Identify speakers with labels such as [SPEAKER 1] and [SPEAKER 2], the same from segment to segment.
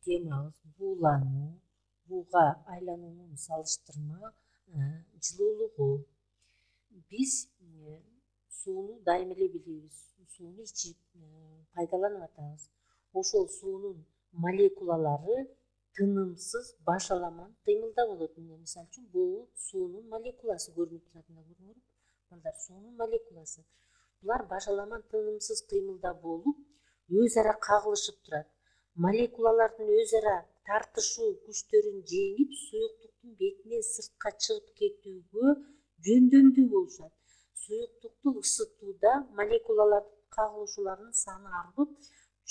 [SPEAKER 1] темабыз буулануу, бууга айлануунун салыштырма жылуулугу. Биз сууну дайым эле билебиз. Сууну ичип пайдаланып атабыз. Ошол суунун молекулалары тынымсыз башаламан кыймылда болот. Мисалы үчүн бул суунун молекуласы көрүнүп турат. Көрүңөр. Мындай суунун молекуласы. Булар башаламан тынымсыз кыймылда болуп, өз ара кагылышып турат. Молекулалардын өз ара тартышуу күчтөрүн жеңип, суюктуктун бетинен сыртка чыгып кетүүгө жөндөмдүү болушат. Суюктукту ысытууда молекулалардын кагылышууларынын саны арбып,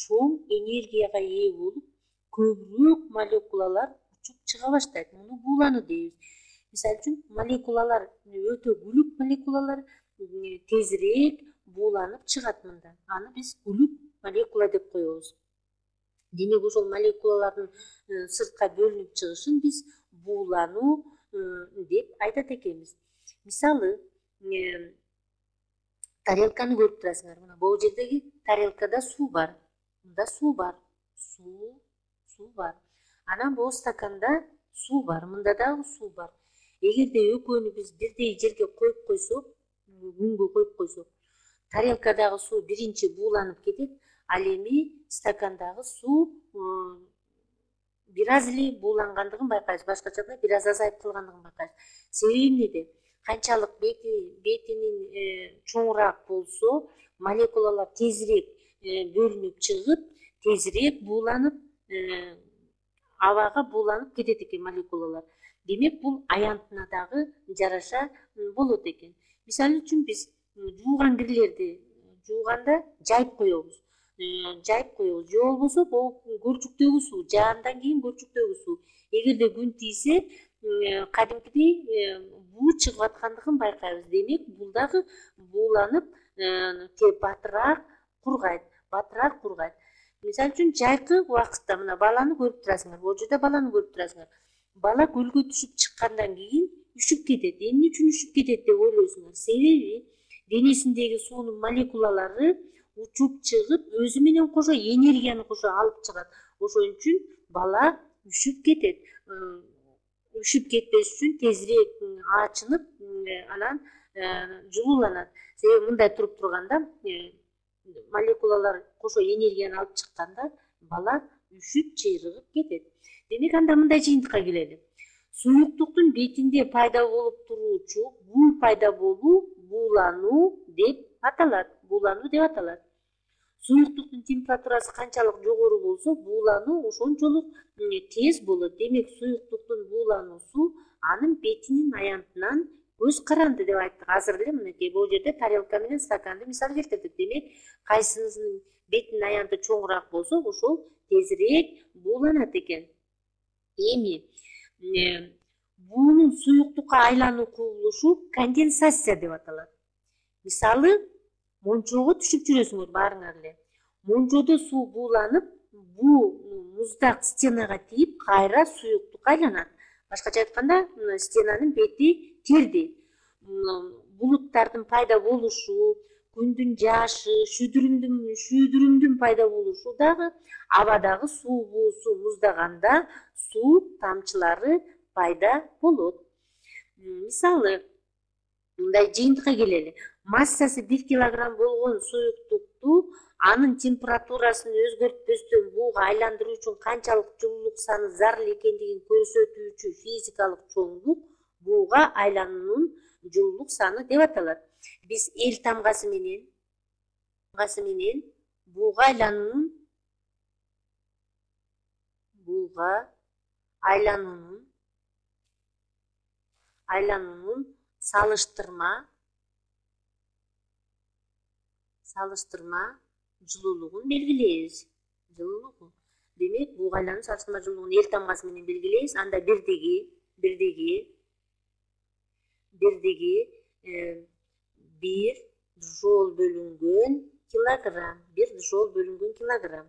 [SPEAKER 1] чоң энергияга ээ болуп, көбүрөөк молекулалар учуп чыга баштайт. Муну буулануу дейбиз. Мисалы үчүн молекулалар өтө күлүк молекулалар тезирээк бууланып чыгат мында. Аны биз күлүк молекула деп коебуз. Демек ошол молекулалардын сыртка бөлүнүп чыгышын биз буулануу деп айтат экенбиз. Мисалы, тарелканы көрүп турасыңар. Мына бул жердеги тарелкада суу бар. Мында суу бар. Суу бар. Анан бул стаканда суу бар. Мында дагы суу бар. Эгерде экөөнү биз бирдей жерге коюп койсок, күнгө коюп койсок, тарелкадагы суу биринчи бууланып кетет, ал эми стакандагы суу бир аз эле буулангандыгын байкайбыз. Башкача айтканда бир аз азайып калгандыгын байкайбыз. Себеби эмнеде? Канчалык бетинин чоңураак болсо, молекулалар тезирээк бөлүнүп чыгып, тезирээк бууланып, абага бууланып кетет экен молекулалар. Демек бул аянтына дагы жараша болот экен. Мисалы үчүн биз жууган кирлерди жууганда жайып коебуз. Же болбосо бул көлчүктөгү суу, жаандан кийин көлчүктөгү суу. Эгерде күн тийсе, кадимкидей буу чыгып аткандыгын байкайбыз. Демек бул дагы бууланып, батыраак кургайт. Мисалы үчүн жайкы убакытта мына баланы көрүп турасыңар. Бул жерде баланы көрүп турасыңар. Бала көлгө түшүп чыккандан кийин үшүп кетет. Эмне үчүн үшүп кетет деп ойлойсуңар? Себеби денесиндеги суунун молекулалары учуп чыгып, өзү менен кошо энергияны кошо алып чыгат. Ошон үчүн бала үшүп кетет. Үшүп кетпеш үчүн тезирээк ачынып, анан жылууланат. Себеби мындай туруп турганда, молекулалар кошо энергияны алып чыкканда, бала үшүп чыйрыгып кетет. Демек анда мындай жыйынтыкка келели. Суюктуктун бетинде пайда болуп туруучу бул пайда болуу буулануу деп аталат. Суюктуктун температурасы канчалык жогору болсо, буулануу ошончолук тез болот. Демек суюктуктун буулануусу анын бетинин аянтынан көз каранды деп айттык. Азыр эле мынакей бул жерде тарелка менен стаканды мисал келтирдик. Демек кайсынын бетинин аянты чоңураак болсо, ошол тезирээк бууланат экен. Эми буунун суюктукка айлануу кубулушу конденсация деп аталат. Мисалы, мончого түшүп жүрөсүңөр баарыңар эле. Мончодо суу бууланып, буу муздак стенага тийип, кайра суюктукка айланат. Башкача айтканда, стенанын бети терди. Булуттардын пайда болушу, күндүн жаашы, шүйдүрүмдүн пайда болушу дагы абадагы суу буусу муздаганда суу тамчылары пайда болот. Мисалы, мындай жыйынтыкка келели. Массасы 1 килограмм болгон суюктукту анын температурасын өзгөртпөстөн бууга айландыруу үчүн канчалык жылуулук саны зарыл экендигин көрсөтүүчү физикалык чоңдук бууга айлануунун жылуулук саны деп аталат. Биз эл тамгасы менен бууга айлануунун салыштырма жылуулугун белгилейбиз. Демек бууга айлануунун салыштырма жылуулугун эл тамгасы менен белгилейбиз. Анда бирдиги 1 жол бөлүнгөн килограмм.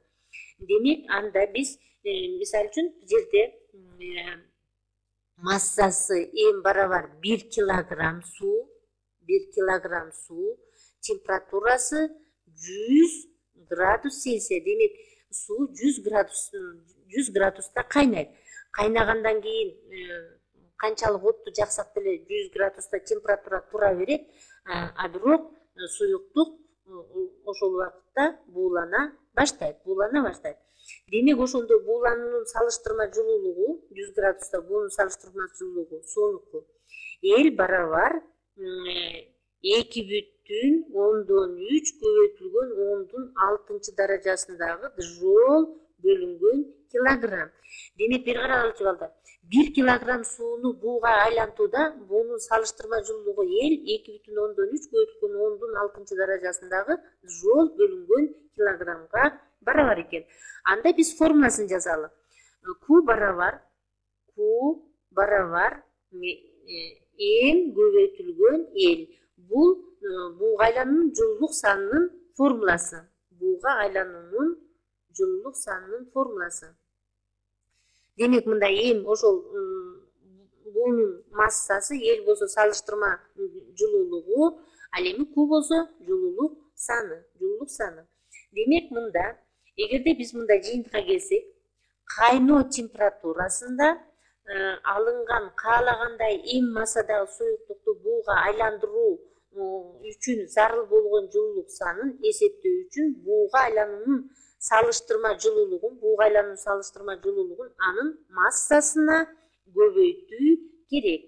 [SPEAKER 1] Демек анда биз мисалы үчүн жерде массасы эң барабар 1 килограмм суу, температурасы 100 градус Цельсия. Демек суу 100 градус 100 градуста кайнайт. Кайнагандан кийин канчалык отту жаксак деле 100 градуста температура тура берет, а бирок суюктук ошол убакытта буулана баштайт. Демек ошондо буулануунун салыштырма жылуулугу 100 градуста буунун салыштырма жылуулугу суунуку барабар 2,3 көбөйтүлгөн 10⁶ даражасындагы джоуль бөлүнгөн килограмм. Демек бир карагылчы балдар, 1 килограмм сууну бууга айлантууда буунун салыштырма жылуулугу 2,3 көбөйтүлгөн 10⁶ даражасындагы джоуль бөлүнгөн килограммга барабар экен. Анда биз формуласын жазалы. Q барабар М көбөйтүлгөн L. Бул бууга айлануунун жылуулук санынын формуласы. Демек мында М ошол буунун массасы, L болсо салыштырма жылуулугу, ал эми Q болсо жылуулук саны. Демек мында эгерде биз мында жыйынтыкка келсек, кайноо температурасында алынган каалагандай М массадагы суюктукту бууга айландыруу үчүн зарыл болгон жылуулук санын эсептөө үчүн бууга айлануунун салыштырма жылуулугун анын массасына көбөйтүү керек.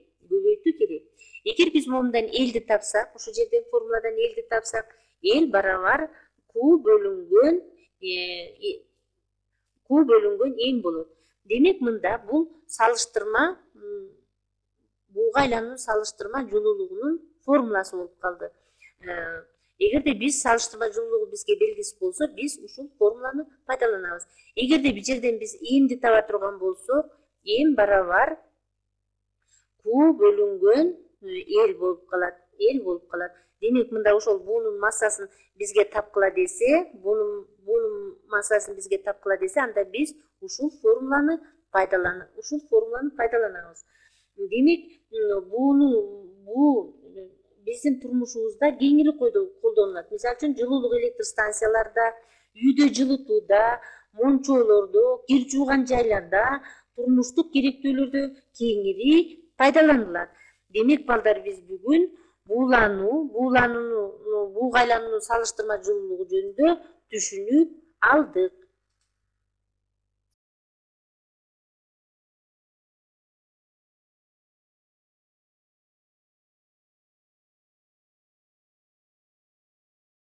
[SPEAKER 1] Эгер биз момундан L'ди тапсак, ушул жерден формуладан L'ди тапсак, L барабар Q бөлүнгөн М болот. Демек мында бул салыштырма бууга айлануунун салыштырма жылуулугунун формуласы болуп калды. Эгерде биз салыштырма жылуулугу бизге белгисиз болсо, биз ушул формуланы пайдаланабыз. Эгерде бул жерден биз Мди таба турган болсок, М барабар Q бөлүнгөн L болуп калат. Демек мында ошол буунун массасын бизге тапкыла десе, анда биз ушул формуланы пайдаланабыз. Демек буу биздин турмушубузда кеңири колдонулат. Мисалы үчүн жылуулук электр станцияларда, үйдө жылытууда, мончолордо, кир жууган жайларда, турмуштук керектөөлөрдө кеңири пайдаланылат. Демек балдар, биз бүгүн бууга айлануунун салыштырма жылуулугу жөнүндө түшүнүп алдык.